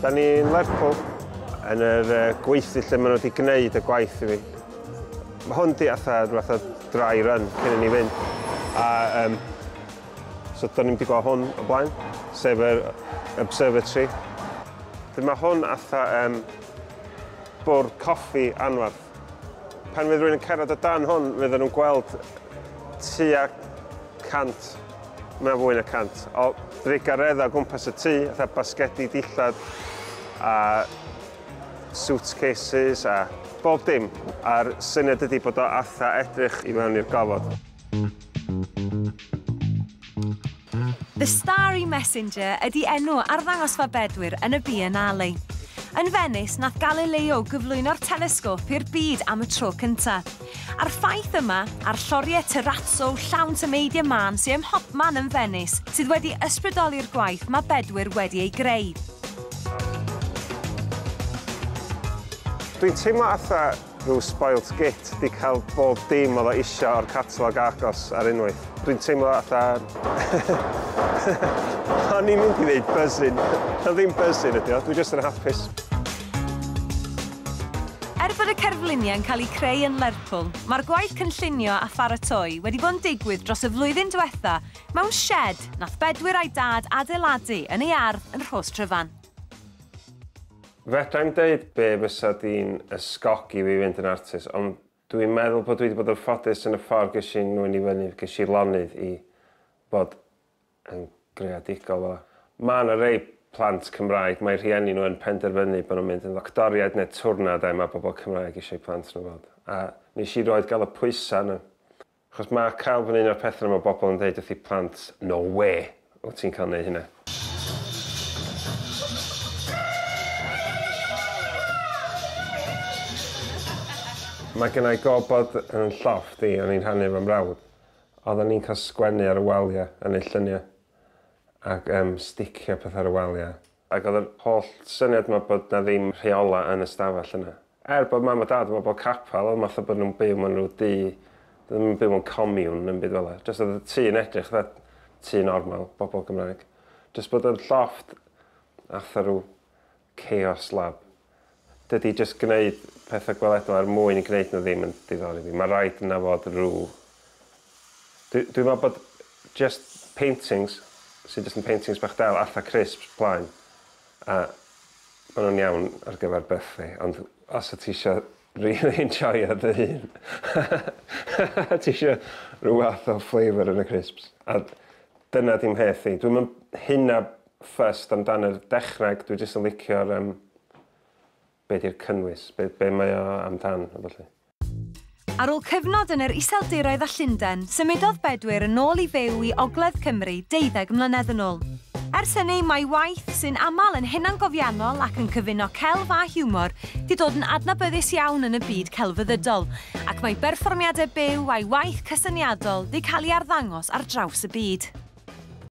Da ni'n Lerpwl yn yr gweithdy lle maen nhw wedi gwneud y gwaith i fi. Mae hwn di atha rhywbeth o dry run cyn i ni fynd. A so da ni'n wedi gweld hwn o blaen, sef yr observatory. Mae hwn atha bwrdd coffi anferth. Pan fydd rhywun yn cerdded o dan hwn, fydden nhw'n gweld tua 100, mae'n fwy na 100, o drugareddau o gwmpas y tŷ, fatha basgedi dillad a suitcases a bob dim. A'r syniad ydy bod o atha edrych i mewn i'r gofod. The Starry Messenger ydy enw arddangosfa Bedwyr yn y Biennale. Yn Venice, nath Galileo gyflwyno'r telesgop i'r byd am y tro cynta. A'r ffaith yma, a'r lloriau terrazzo llawn tameidiau mân sy'n ym mhobman yn Venice, sydd wedi ysbrydoli'r gwaith mae Bedwyr wedi ei greu. Dwi'n teimlo atha rhyw spoilt git di cael bob dim oedd o isio o'r catalog agos ar unwaith. Dwi'n teimlo atha... O'n i'n mynd i ddeud buzzing. Na ddim buzzing ydi o, dwi jyst yn hapus. Er bod y cerfluniau'n cael eu creu yn Lerpwl, mae'r gwaith cynllunio a pharatoi wedi bod yn digwydd dros y flwyddyn diwetha mewn shed nath Bedwyr a'i dad adeiladu yn ei ardd yn Rhos Tryfan. Fedra i'm deud be fysa di'n ysgogi fi fynd yn artist, ond dwi'n meddwl bod dwi wedi bod yn ffodus yn y ffordd ges i nwyn i fyny, ges i lonydd i bod yn greadigol fel. Mae yna rei plant Cymraeg, mae rhieni nhw yn penderfynu bod nhw'n mynd yn ddoctoriaid neu twrna, de, mae bobl Cymraeg eisiau plant nhw fod. A nes i roed gael y pwysau yna. Achos mae cael fy un o'r pethau yma bobl yn dweud wrth i plant, no way, wyt ti'n cael neud hynna. Mae gen i gofod yn llofft i, o'n i'n rhannu efo mrawd. Oedden ni'n cael sgwennu ar y waliau yn ei lluniau ac sticio pethau ar y waliau. Ac oedd yr holl syniad yma bod na ddim rheola yn y stafell yna. Er bod mam a dad yn bobl capel, oedd math o bod nhw'n byw mewn rhyw dŷ, ddim yn byw mewn comiwn yn byd fel 'na. Jyst oedd y tŷ yn edrych fatha tŷ normal, bobl Gymraeg. Jyst bod yr llofft atha rhyw chaos lab. Dydy jyst gwneud pethau gweledol er mwyn i gwneud nhw ddim yn diddori fi. Mae rhaid yna fod rhyw... Dwi'n meddwl bod just paintings, sydd jyst yn paintings bach del, atha crisps plaen, a maen nhw'n iawn ar gyfer birthday, ond os y ti eisiau really enjoyo dy hun, ti eisiau rhyw fath o flavour yn y crisps. A dyna dim mheth i. Dwi'n mynd hynna fussed amdan yr dechneg, dwi jyst yn licio'r be di'r cynnwys, be mae o amdan, a ballu. Ar ôl cyfnod yn yr Iseldiroedd a Llundain, symudodd Bedwyr yn ôl i fyw i Ogledd Cymru 12 mlynedd yn ôl. Ers hynny, mae waith sy'n aml yn hunangofiannol ac yn cyfuno celf a hiwmor di dod yn adnabyddus iawn yn y byd celfyddydol, ac mae berfformiadau byw a'i waith cysyniadol di cael ei arddangos ar draws y byd.